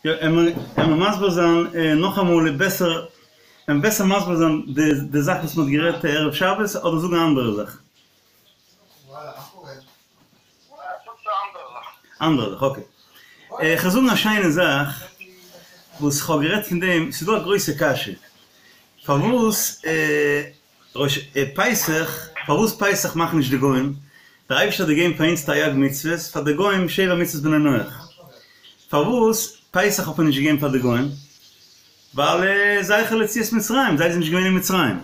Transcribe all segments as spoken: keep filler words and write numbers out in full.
יא, עמער מסביר זיין נאכאמאל בעסער, עמער בעסער מסביר זיין די זאך וואס מ'האט גערעדט ערב שבת, אדער זאגן א אנדערע זאך? אנדערע זאך, okay. איך וועל זאגן א שיינע זאך וואס כ'האב גערעדט פון דעם, ס'איז דא א גרויסע קשיא, פארוואס ראש פסח, פארוואס פסח מאכן נישט די גוים? דער אייבערשטער האט געגעבן פאר אונז תרי"ג מצוות, פאר די גוים שבע מצוות בני נח. פארוואס פסח האט מען נישט געגעבן פאר די גוים? ווייל זכר ליציאת מצרים, זיי זענען נישט געווען אין מצרים.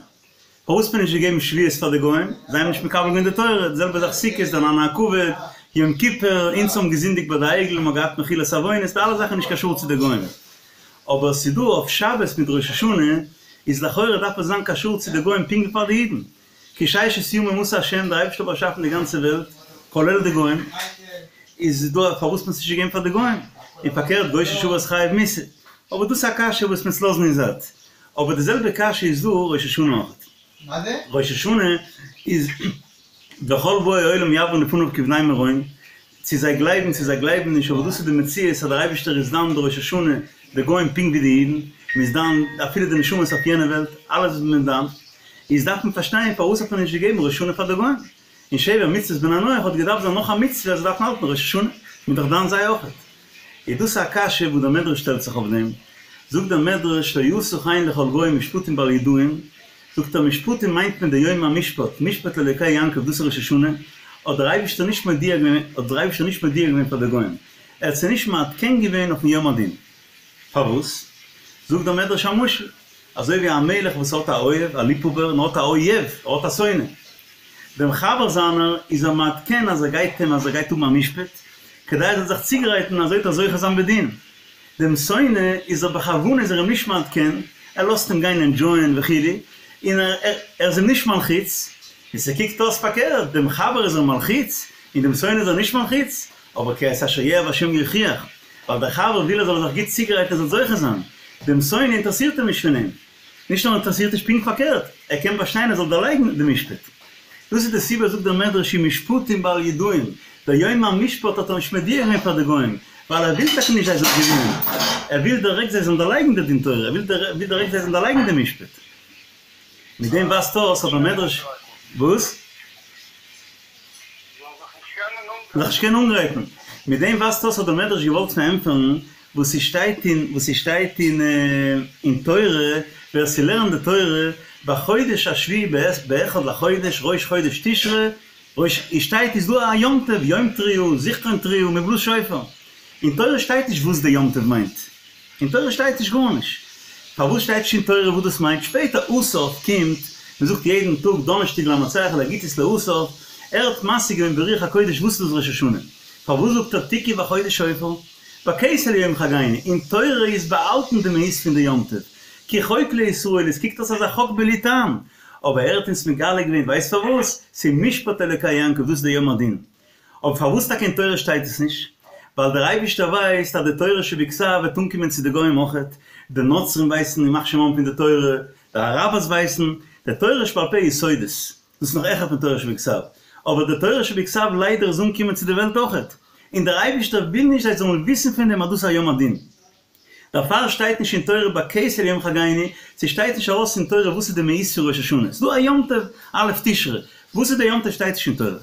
פארוואס האט מען נישט געגעבן שבועות פאר די גוים? זיי האבן נישט מקבל געווען די תורה. די זעלבע זאך סוכות, די ענני הכבוד, יום כיפור, אונז האבן געזינדיגט ביי די עגל און מ'האט געהאט מחילת עוונות, די אלע זאכן איז נישט קשור צו די גוים. אבער ס'דא אויף שבת מיט ראש השנה איז לכאורה דארף עס זיין קשור צו די גוים פונקט ווי פאר די אידן, כי ששת ימים עשה השם, דער אייבערשטער האט באשאפן די גאנצע וועלט כולל די גוים, איז דא פארוואס מען עס נישט געגעבן פאר די גוים, און פארקערט גוי ששבת חייב מיתה, אבער דאס איז א קשיא וואס מ'עט לאזן אין זייט, אבער די זעלבע קשיא איז דא ראש השנה אויך, ראש השנה איז וכל באי עולם יעברו לפניו כבני מרון, צו זיי גלייבן צו זיי גלייבן נישט, אבער דאס איז די מציאות אז דער אייבערשטער איז דן בראש השנה די גוים פונקט ווי די אידן, מען איז דן אפילו די נשמות אויף יענע וועלט, אלעס איז מען דן, איז דארף מען פארשטיין פארוואס האט מען נישט געגעבן ראש השנה פאר די גוים, און שבע מצוות בני נח האט געדארפט זיין נאך א מצוה אז זיי דארפן האלטן ראש השנה, מען איז דאך דן זיי אויכעט. איז דאס א קשיא וואס דער מדרש שטעלט זיך אויף דעם, זאגט דער מדרש לא עשה כן לכל גוי משפטים בל ידעום, זאגט ער משפטים מיינט מען די יום המשפט, משפט לאלוקי יעקב דאס איז ראש השנה, האט דער אייבישטער נישט מודיע געווען, האט דער אייבישטער נישט מודיע געווען פאר די גוים, ער האט זיי נישט מעדכן געווען אויפן יום הדין. פארוואס? זאגט דער מדרש א משל, אזוי ווי א מלך וואס האט א אוהב, א ליבהאבער, און האט א אויב, ער האט א שונא. דעם חבר זיינער איז ער מעדכן אז ער גייט אים אז ער גייט האבן א משפט, כדי ער זאל זיך צוגרייטן אזוי וועט ער זוכה זיין בדין. דעם שונא איז ער בכוונה איז ער אים נישט מעדכן, ער לאזט אים גיין enjoy ען וכו', און ער ער איז אים נישט מלחיץ, און ס'קוקט אויס פארקערט, דעם חבר איז ער מלחיץ, און דעם שונא איז ער נישט מלחיץ, אבער כי את אשר יאהב השם יוכיח, ווייל דער חבר וויל ער זאל זיך גוט צוגרייטן ער זאל זוכה זיין, דעם שונא אינטערעסירט אים נישט פון אים, נישט נאר אינטערעסירט נישט פונקט פארקערט, ער קען באשטיין ער זאל דערלייגן די משפט. דאס איז די סיבה זאגט דער מדרש אין משפטים בל ידעום, דער יום המשפט האט ער נישט מודיע געווען פאר די גוים, ווייל ער וויל טאקע נישט זיי זאלן געווינען, ער וויל דירעקט זיי זאלן דערלייגן די דין תורה, ער וויל דירעקט זיי זאלן דערלייגן די משפט. מיט דעם ווייזט אויס אז דער מדרש, וואס? זיך נישט קענען אנגרייטן. מיט דעם ווייזט אויס האט דער מדרש געוואלט פארענטפערן וואס ס'שטייט אין וואס ס'שטייט אין אין תורה, ווער ס'לערנט די תורה בחודש השביעי באחד לחודש ראש חודש תשרי, ראש איז שטייט איז דא א יום טוב, יום תרועה, זכרון תרועה, מ'בלאזט שופר. אין תורה שטייט נישט וואס די יום טוב מיינט. אין תורה שטייט נישט גארנישט. פארוואס שטייט נישט אין תורה וואס דאס מיינט? שפעטער אסף קומט, מען זאגט יעדן טאג דאנערשטאג למנצח לבגיתית לאסף, ער האט משיג געווען ברוח הקודש וואס איז דאס ראש השנה. פארוואס זאגט ער תקעו בחודש שופר? בכסה ליום חגנו, אין תורה איז באהאלטן די מהות פון די יום טוב. כי חוק לישראל, עס קוקט אויס אזא חוק בלי טעם. אבער ער האט אונז מגלה געווען, ווייסט פארוואס? ס'איז משפט אלוקי יעקב, דאס איז די יום הדין. אבער פארוואס טאקע אין תורה שטייט עס נישט? ווייל דער אייבישטער ווייסט אז די תורה שבכתב וועט אנקומען צו די גוים אויכעט, די נוצרים ווייסן ימח שמם פון די תורה, די אראבערס ווייסן, די תורה שבעל פה איז סודות, דאס איז נאך העכער פון תורה שבכתב, אבער די תורה שבכתב ליידער איז אנגעקומען צו די וועלט אויכעט, און דער אייבישטער וויל נישט זיי זאלן וויסן פון דעם אז דאס איז א יום הדין. דערפאר שטייט נישט אין תורה בכסה ליום חגנו, ס'שטייט נישט ארויס אין תורה וואס איז די מהות פון ראש השנה, ס'דא א יום טוב א' תשרי, וואס איז די יום טוב שטייט נישט אין תורה.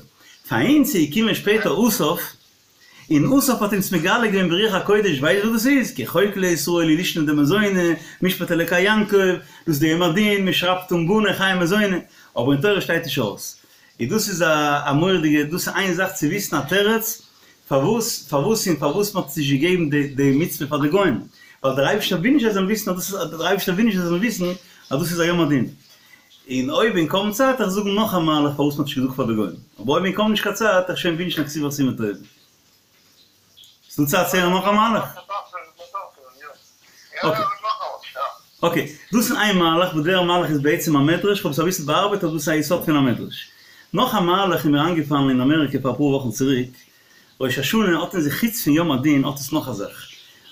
פאר אונז איז געקומען שפעטער אסף, און אסף האט אונז מגלה געווען ברוח הקודש ווייסט וואס דאס איז, כי חוק לישראל היא לישנא דמזונא, משפט אלקי יעקב, דאס איז די יום הדין, מ'שרייבט אן בני חיי מזוני, אבער אין תורה שטייט נישט ארויס. איז דאס איז א מורא'דיגע, דאס איז איין זאך צו וויסן א תירוץ, פארוואס פארוואס און פארוואס מ'האט נישט געגעבן די די מצוה פאר די גוים, ווייל דער אייבערשטער וויל נישט זיי זאלן וויסן אז דאס איז דער אייבערשטער וויל נישט זיי זאלן וויסן אז דאס איז א יום הדין. און אויב אין קוים צייט איך זאגן נאך א מהלך פארוואס מ'האט נישט געזאגט פאר די גוים, אבער אויב אין קוים נישט קיין צייט איך שוין ווינטשן א כתיבה וחתימה טובה. ס'דא צייט צו הערן נאך א מהלך? okay. okay, דאס איז איין מהלך, וואס דער מהלך איז בעצם א מדרש, כ'האב עס אביסל באארבעט אבער דאס איז א יסוד פון א מדרש. נאך א מהלך איז מיר איינגעפאלן אין אמעריקע פאר אפאר וואכן צוריק, ראש השנה האט אין זיך חוץ פון יום הדין האט עס נאך א זאך,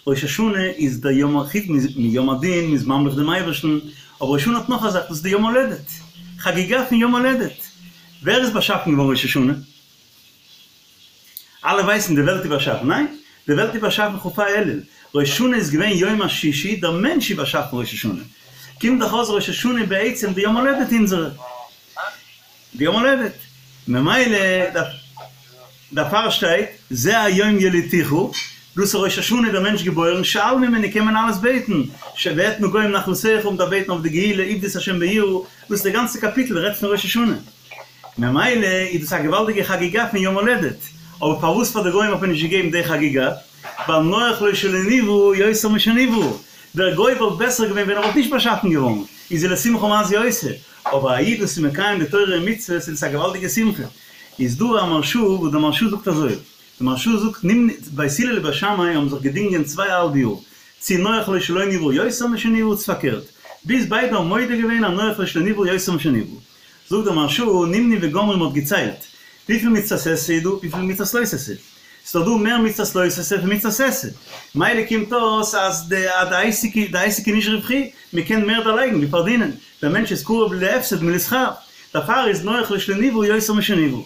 ראש השנה איז דער יום חוץ מיום הדין, מ'איז ממליך דעם אייבערשטן, אבער ראש השנה האט נאך א זאך, דאס איז די יום הולדת, חגיגה פון יום הולדת, ווער איז באשאפן געווארן ראש השנה? אלע ווייסן די וועלט איז באשאפן, ניין? די וועלט איז באשאפן כ"ה אלול, ראש השנה איז געווען יום השישי, דער מענטש איז באשאפן ראש השנה. קומט דאך אויס ראש השנה בעצם די יום הולדת אונזערע. די יום הולדת. ממילא דערפאר שטייט זה היום ילידתיך, דאס איז ראש השנה דער מענטש געבוירן, שאל ממני קען מען אלעס בעטן, ואתנה גוים נחלתך, מ'דארף בעטן אויף די גאולה, עבדו את השם ביראה, דאס איז די גאנצע קאפיטל רעדט פון ראש השנה. ממילא איז דאס א געוואלדיגע חגיגה פון יום הולדת, אבער פארוואס פאר די גוים האט מען נישט געגעבן די חגיגה? ווייל נוח לו שלא נברא יותר משנברא, דער גוי וואלט בעסער געווען ווען ער וואלט נישט באשאפן געווארן, איז ולשמחה מה זו עושה, אבער א איד וואס איז מקיים די תורה און מצוות איז עס א געוואלדיגע שמחה. איז דא א מהרשא וואס דער מהרשא זאגט אזוי, דער מהרשא זאגט נמנו בית הלל ובית שמאי האבן זיך געדינגען צוויי אהאלב יאר, צי נוח לו שלא נברא יותר משנברא צי פארקערט, ביז ביידע האבן מודה געווען אז נוח לו שלא נברא יותר משנברא. זאגט דער מהרשא, נמנו וגמרו מ'האט געציילט וויפיל מצוות עשה איז דא, וויפיל מצוות לא תעשה. ס'איז דאך דא מער מצוות לא תעשה פון מצוות עשה. מילא קומט אויס אז די עסק די עסק איז נישט רווחי, מ'קען מער דערלייגן ווי פארדינען, דער מענטש איז קרוב להפסד מלשכר, דערפאר איז נוח לו שלא נברא יותר משנברא.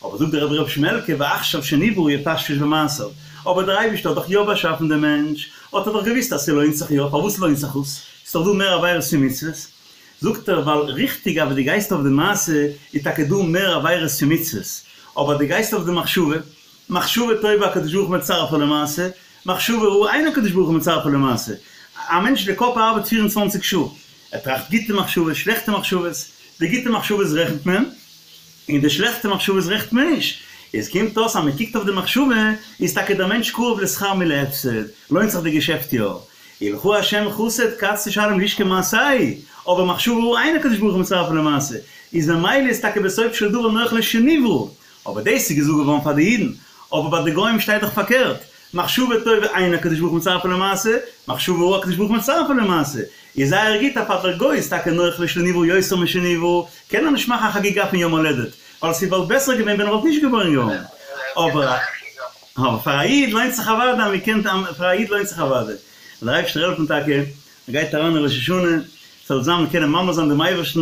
אבער זאגט דער רבי ר' שמעלקע ועכשיו שנברא יפשפש במעשיו, אבער דער אייבערשטער האט דאך יא באשאפן דעם מענטש, האט ער דאך געוואוסט אז ס'לוינט זיך יא, פארוואס לוינט זיך עס? ס'איז דאך דא מער עבירות פון מצוות. זאגט ער ווייל ריכטיג אויב דו גייסט אויף די מעשה איז טאקע דא מער עבירות פון מצוות, אבער דו גייסט אויף די מחשבה, מחשבה טובה הקדוש ברוך הוא מצרפה למעשה, מחשבה רעה אין הקדוש ברוך הוא מצרפה למעשה, א מענטש די קאפ ארבעט פֿיר און צוואַנציק שעה, ער טראכט גוטע מחשבות שלעכטע מחשבות, די גוטע מחשבות רעכנט מען, און די שלעכטע מחשבות רעכנט מען נישט, עס קומט אויס אז מען קוקט אויף די מחשבה איז טאקע דער מענטש קרוב לשכר מלהפסד, לוינט זיך די געשעפט יא, ולך השם חסד קץ תשלם לאיש כמעשהו, אבער מחשבה רעה אין הקדוש ברוך הוא מצרפה למעשה, איז ממילא איז טאקע בסוף של דבר נוח לו שנברא, אבער דאס איז געזאגט געווארן פאר די אידן, אבער ביי די גוים שטייט דאך פארקערט, מחשבה טובה אין הקדוש ברוך הוא מצרפה למעשה, מחשבה רעה הקדוש ברוך הוא מצרפה למעשה, איז זייער גוט אז פאר דער גוי איז טאקע נוח לו שלא נברא יותר משנברא, קען ער נישט מאכן א חגיגה פון יום הולדת, ווייל ס'וואלט בעסער געווען ווען ער וואלט נישט געבוירן געווארן, אבער אבער פאר א איד לוינט זיך אוודאי, מען קען פאר א איד לוינט זיך אוודאי, זאל דער אייבערשטער העלפן טאקע, מען גייט אריין אין ראש השנה, ס'זאל זיין מען קענען ממלא זיין דעם אייבערשטן,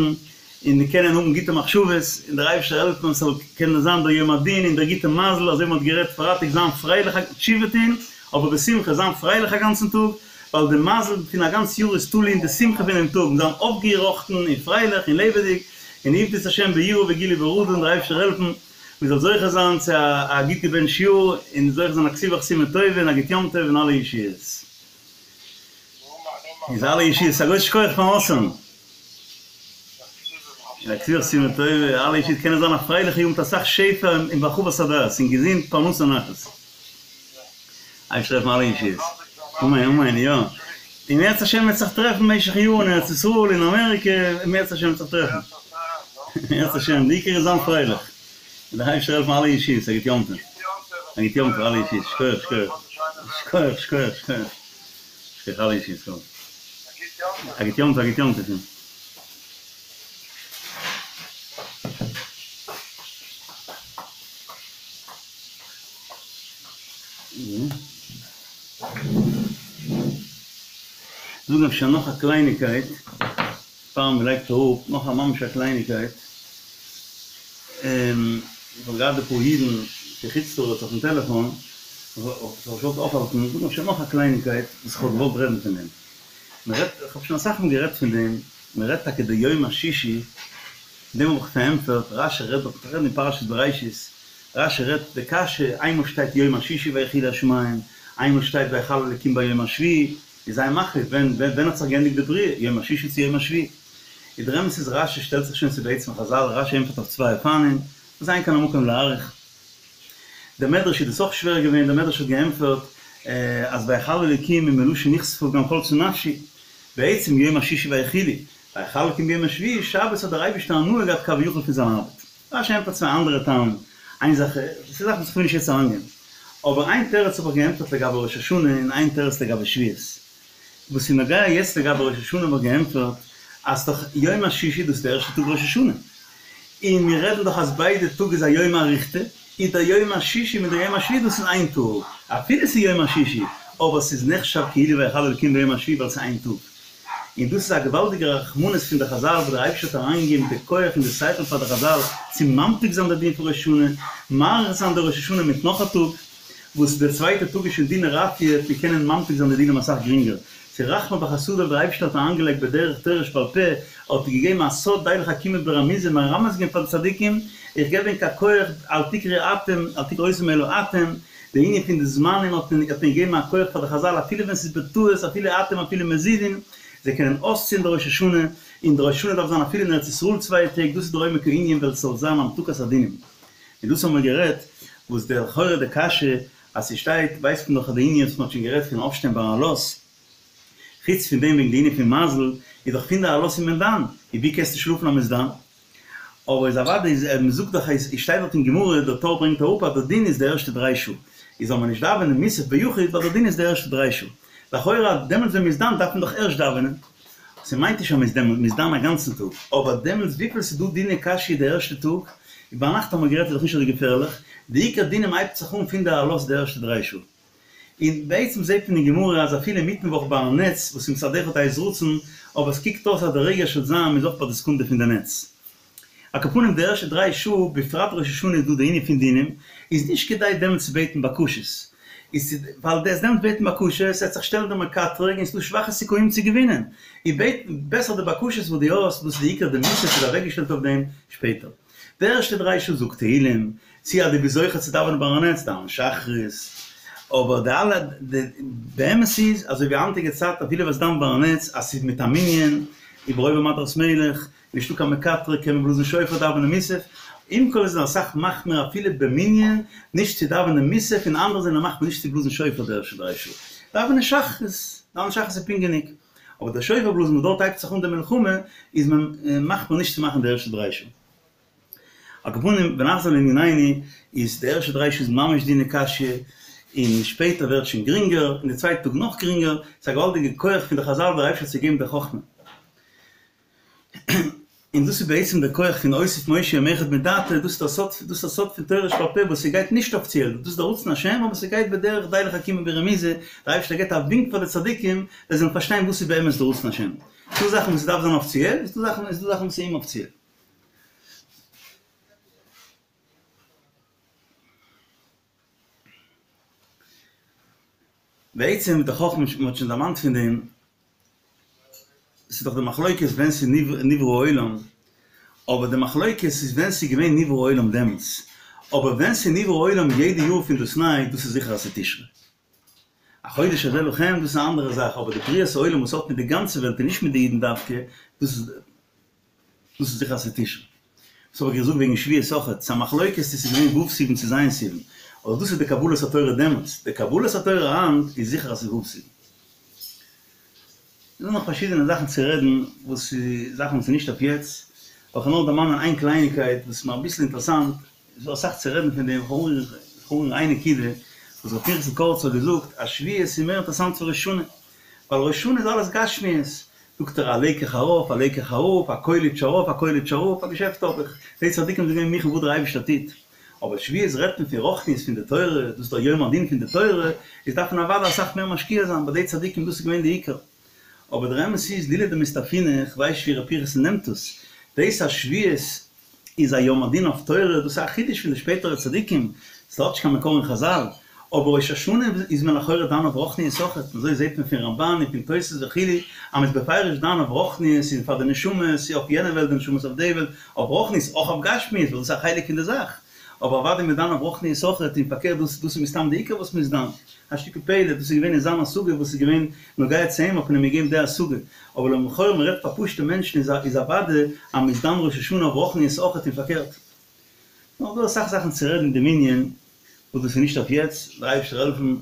און מיר קענען האבן גוטע מחשבות, און דער אייבערשטער העלפן ס'זאל קענען זיין דער יום הדין און דער גוטע מזל, אזוי ווי מען האט גערעדט פרייטאג זיין פרייליך, תשובה טון, אבער בשמחה, זיין פרייליך א גאנצן טאג, ווייל די מזל פון א גאנץ יאר איז תלוי אין די שמחה פונעם טאג, זיין אויפגעראכטן און פרייליך און לעבעדיג, און עבדו את השם ביראה וגילו ברעדה, און דער אייבערשטער העלפן מען זאל זוכה זיין צו א גוט געבענטשט יאר, און זוכה זיין א כתיבה וחתימה טובה און א גוט יום טוב און אלע ישועות. איז אלע ישועות, א גרויסן שכוח פארן אויסהערן. און א כתיבה וחתימה טובה, אלע ישועות קענען זיין א פרייליכע יאר מיט אסאך שפע און בהרחבת הדעת און געזונט פרנסה נחת. אייבערשטער העלפן אלע ישועות. אמן אמן יא. אם ירצה השם מ'וועט זיך טרעפן במשך יאר אין ארץ ישראל אין אמעריקע, אם ירצה השם מ'וועט זיך טרעפן. אם ירצה השם, די עיקר איז זיין פרייליך. און דער אייבערשטער העלפן אלע ישועות, א גוט יום טוב. א גוט יום טוב אלע ישועות, שכוח שכוח. שכוח שכוח שכוח. שכוח אלע ישועות. א גוט יום טוב א גוט יום טוב. זאגן אפשר נאך א קלייניקייט פאר מען לייגט אראפ, נאך א ממש א קלייניקייט, איך האב געהאט אפאר אידן פון חוץ לארץ אויפן טעלעפאן, איך האב זיך געוואלט אויפהאלטן, זאגן אפשר נאך א קלייניקייט וואס איך האב געוואלט רעדן פון דעם, מען רעדט, איך האב שוין אסאך מאל גערעדט פון דעם, מען רעדט טאקע די יום השישי, דעם האב איך פארענטפערט, רשי רעדט דארט, רעדן אין פרשת בראשית, רשי רעדט די קשיא, איינמאל שטייט יום השישי ויכולו השמים, איינמאל שטייט ויכל אלקים ביום השביעי, איז זיי מחליט ווען ווען האט זיך געענדיגט די בריאה, יום השישי צו יום השביעי. איז דער אמת איז רשי שטעלט זיך שוין צו בעצם חזל, רשי ענטפערט אויף צוויי אופנים, וואס אין כאן המקום להאריך. דער מדרש איז דאס אויך שווער געווען, דער מדרש האט געענטפערט אז ויכל אלקים איז מלשון נכספה גם חלתה נפשי, בעצם יום השישי ויכולו, ויכל אלקים ביום השביעי, שבת האט דער אייבערשטער הנאה געהאט כביכול פון זיין ארבעט. רשי ענטפערט צוויי אנדערע טעמים, איין זאך, ס'איז זאכן וואס כ'וויל נישט יעצט אריינגיין, אבער איין תירוץ האב איך געענטפערט לגבי ראש השנה און איין תירוץ לגבי שבועות. וואס איז נוגע יעצט לגבי ראש השנה האב איך געענטפערט אז ס'דאך יום השישי דאס איז די ערשטע טאג ראש השנה, און מיר רעדן דאך אז ביידע טאג איז א יומא אריכתא, איז דער יום השישי מיט דער יום השביעי דאס איז איין טאג, אפילו ס'איז יום השישי, אבער ס'איז נחשב כאילו ויכל אלקים ביום השביעי ווייל ס'איז איין טאג. און דאס איז א געוואלדיגע רחמנות פון די חזל וואס דער אייבערשטער האט אריינגעגעבן די כח און די שכל פאר די חזל צו ממתיק זיין די דין פון ראש השנה, מאריך זיין די ראש השנה מיט נאך א טאג, וואס דער צווייטער טאג איז שוין דינא רפיא, וועט מען קענען ממתיק זיין די דינים אסאך גרינגער. ס'איז רחמיו וחסדיו דער אייבערשטער האט אריינגעלייגט בדרך תורה שבעל פה, האט ער געגעבן א סוד די לחכימא ברמיזא מרמז געווען פאר די צדיקים, איך געב ענק א כח אל תקרי אתם, אל תקראו אותם אלא אתם, די ענין פון די זמנים האט מען האט מען געגעבן א כח פאר די חזל אפילו ווען ס'איז בטעות אפילו אתם אפילו מזידין, זיי קענען אויסציען די ראש השנה, און די ראש השנה דארף זיין אפילו אין ארץ ישראל צוויי טעג, דאס איז דער עומק הענין ווייל ס'זאל זיין המתקת הדינים. און דאס האבן מיר גערעדט, וואס די לכאורה די קשיא אז ס'שטייט ווייסט מען דאך אז די ענין וואס מ'האט שוין גערעדט פון אויפשטיין ביי עלות, חוץ פון דעם וועגן די ענין פון מזל, איז דאך פון די עלות איז מען דן, און ווי קענסטו שלאפן אז מ'איז דן? אבער איז אוודאי איז מ'זאגט דאך אז שטייט דארט אין גמרא, דער טור ברענגט אראפ אז דער דין איז די ערשטע דריי שעה, איז זאל מען נישט דאווענען מוסף ביחיד ווייל דער דין איז די ערשטע דריי שעה. לכאורה דעמאלטס ווען מ'איז דן דארף מען דאך ערשט דאווענען. ס'מיינט נישט אז מ'איז דעמאלט, מ'איז דן א גאנצן טאג, אבער דעמאלטס וויפיל ס'איז דא דיני קשיא די ערשטע טאג, און ביינאכט האבן מיר גערעדט איז דאך נישט אזוי געפערליך, די עיקר דינים הייבט זיך אן פון די עלות די ערשטע דריי שעה. און בעצם זעט מען אין גמרא אז אפילו אינמיטן וואך ביי א נץ וואס איז מצד אחד עת רצון, אבער עס קוקט אויס אז די רגע של זעם איז אויך ביי די סעקונדע פון די נץ. על כל פנים די ערשטע דריי שעה, בפרט ראש השנה איז דא די ענין פון דינים, איז נישט כדאי דעמאלטס צו בעטן בקשות, איז צו ווייל דאס דעמאלטס בעטן בקשות עט זיך שטעלן דער מקטרג און ס'דא שוואכע סיכויים צו געווינען, איז בעט בעסער די בקשות וואס דו האסט, דאס איז די עיקר די מוסף איז אוועקגעשטעלט אויף דעם שפעטער. די ערשטע דריי שעה זאג תהילים, צי אז דו ביסט זוכה צו דאווענען ביי א נץ דאווען שחרית, אבער די אלע די באמת איז אזוי ווי היינטיגע צייט אפילו וועסט דאווענען ביי א נץ אז ס'איז מיט א מנין וברוב עם הדרת מלך, נישטא קיין מקטרג קען מען בלאזן שופר דאווענען מוסף, עם כל זה זענען אסאך מחמיר אפילו במנין נישט צו דאווענען מוסף און אנדערע זענען מחמיר נישט צו בלאזן שופר די ערשטע דריי שעה, דאווענען שחרית, דאווענען שחרית איז פונקט גענוג, אבער דער שופר בלאזן וואס דארט הייבט זיך אן די מלחמה איז מען מחמיר נישט צו מאכן די ערשטע דריי שעה. על כל פנים ונחזור לענינינו איז די ערשטע דריי שעה איז ממש דיני קשיא און שפעטער ווערט שוין גרינגער און די צווייטע טאג נאך גרינגער, ס'איז א געוואלדיגע כח פון די חזל דער אייבערשטער צו געבן די חכמה. און דאס איז בעצם דער כח פון הוסיף משה יום אחד מדעתו, דאס איז דער סוד, דאס איז דער סוד פון תורה שבעל פה וואס ס'גייט נישט אפיציעל, דאס איז דער רצון השם אבער ס'גייט בדרך די לחכימא ברמיזא, דער אייבערשטער געבט א ווינק פאר די צדיקים זיי זאלן פארשטיין וואס איז באמת דער רצון השם. ס'דא זאכן וואס ס'דארף זיין אפיציעל, און ס'דא זאכן, ס'דא זאכן וואס איז אומאפיציעל. בעצם די חכמה, מ'האט שוין דערמאנט פון דעם, ס'איז דאך די מחלוקת ווען ס'איז נברא העולם, אבער די מחלוקת איז ווען ס'איז געווען נברא העולם דעמאלטס, אבער ווען ס'איז נברא העולם יעדע יאר פון דאס ניי, דאס איז זיכער אז ס'איז תשרי. החודש הזה לכם דאס איז א אנדערע זאך, אבער די בריאת העולם וואס האט מיט די גאנצע וועלט און נישט מיט די אידן דווקא, דאס איז דאס איז זיכער אז ס'איז תשרי. דאס האב איך געזאגט וועגן שבועות אויכעט, ס'איז א מחלוקת צו ס'איז געווען ו' סיוון צו ז' סיוון, אבער דאס איז די קבלת התורה דעמאלטס, די קבלת התורה היינט איז זיכער אז ס'איז ו' סיוון. ס'איז דא נאך פארשידענע זאכן צו רעדן וואס איז זאכן וואס איז נישט אויף יעצט, אבער כ'וועל נאר דערמאנען איין קלייניקייט וואס איז מיר אביסל אינטערעסאנט, איז דא אסאך צו רעדן פון דעם, כ'וועל אנרירן איין נקודה וואס ר' פנחס'ל קאריצער האט געזאגט אז שבועות איז מער אינטערעסאנט פון ראש השנה, ווייל ראש השנה איז אלעס גשמיות, זאגט ער א לעקעך ארויף א לעקעך אראפ, א קויליטש ארויף א קויליטש אראפ, א געשעפט האב איך, די צדיקים זענען געווען מוכן וואס דער אייבערשטער טוט, אבער שבועות רעדט מען פון רוחניות פון די תורה, דאס איז דער יום הדין פון די תורה, איז דארף מען אוודאי אסאך מער משקיע זיין, ביי די צדיקים דאס איז געווען די עיקר. אבער דער אמת איז לולא דמסתפינא, כ'ווייס נישט ווי ר' פנחס'ל נעמט עס, דאס אז שבועות איז א יום הדין אויף תורה, דאס איז א חידוש פון די שפעטערע צדיקים, ס'האט נישט קיין מקור אין חזל, אבער ראש השנה איז מען לכאורה דן אויף רוחניות אויכעט, און אזוי זעט מען פון רמבן און פון תוס' וכו' אז מ'איז בפירוש דן אויף רוחניות און פאר די נשמות, אויף יענע וועלט די נשמות אויף די וועלט, אויף רוחניות, אויך אויף גשמיות, ווייל דאס איז א חלק פון די זאך, אבער אוודאי מ'איז דן אויף רוחניות אויכעט, און פארקערט דאס דאס איז מסתם די עיקר וואס מ'איז דן. א שטיקל פלא, דאס איז געווען אין זיין השגה וואס איז געווען נוגע צו אים האט מען אים געגעבן די השגה, אבער לכאורה מען רעדט פאר פשוטע מענטשן איז איז אוודאי אז מען איז דן ראש השנה אויף רוחניות אויכעט און פארקערט. נאך דא אסאך זאכן צו רעדן אין דעם ענין וואס דאס איז נישט אויף יעצט, דער אייבערשטער העלפן.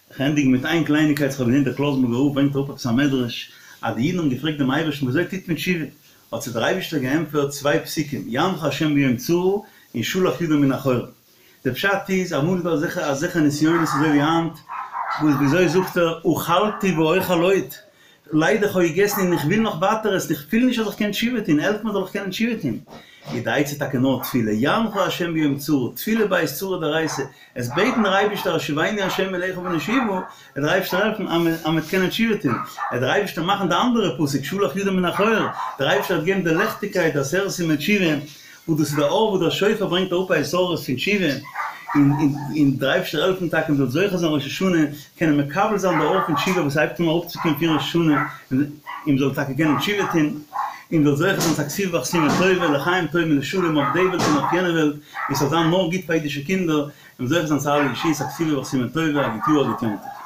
איך ענדיג מיט איין קלייניקייט, איך האב געזען דער קלויזנבורגער רב ברענגט אראפ עפעס א מדרש אז די אידן האבן געפרעגט דעם אייבערשטן ווי אזוי טוט מען תשובה, האט זיי דער אייבערשטער געענטפערט צוויי פסוקים, יענך השם ביום צרה און שלח ידו מן החור. די פשט איז, אמאל איז דא אזעלכע אזעלכע נסיונות אזוי ווי היינט, וואס וויאזוי זאגט ער, אכלתי ואוכל עוד, ליידער כ'האב געגעסן און איך וויל נאך ווייטער עסן, איך פיל נישט אז איך קען תשובה טון, העלף מיר זאל איך קענען תשובה טון. איז די עצה טאקע נאר תפילה, יענך ה' ביום צרה, תפילה בעת צרה דאורייתא, עס בעטן דער אייבערשטער השיבנו ה' אליך ונשובה, וועט דער אייבערשטער העלפן אז מען וועט קענען תשובה טון, וועט דער אייבערשטער מאכן די אנדערע פסוק שלח ידו מן החור, דער אייבערשטער וועט געבן די לעכטיגקייט די עשרת ימי תשובה, וואס דאס איז דער אור וואס דער שופר ברענגט אראפ א התעוררות פון תשובה, און דער אייבערשטער העלפן טאקע מ'זאל זוכה זיין ראש השנה קענען מקבל זיין די אור פון תשובה וואס הייבט אן אראפצוקומען פון ראש השנה, און מ'זאל טאקע קענען תשובה טון, און מ'זאל זוכה זיין צו א כתיבה וחתימה טובה, לחיים טובים ולשלום אויף די וועלט און אויף יענע וועלט, און ס'זאל זיין נאר גוט פאר אידישע קינדער, און זוכה זיין צו אלע ישועות, א כתיבה וחתימה טובה, א גוט יאר א גוט יום טוב.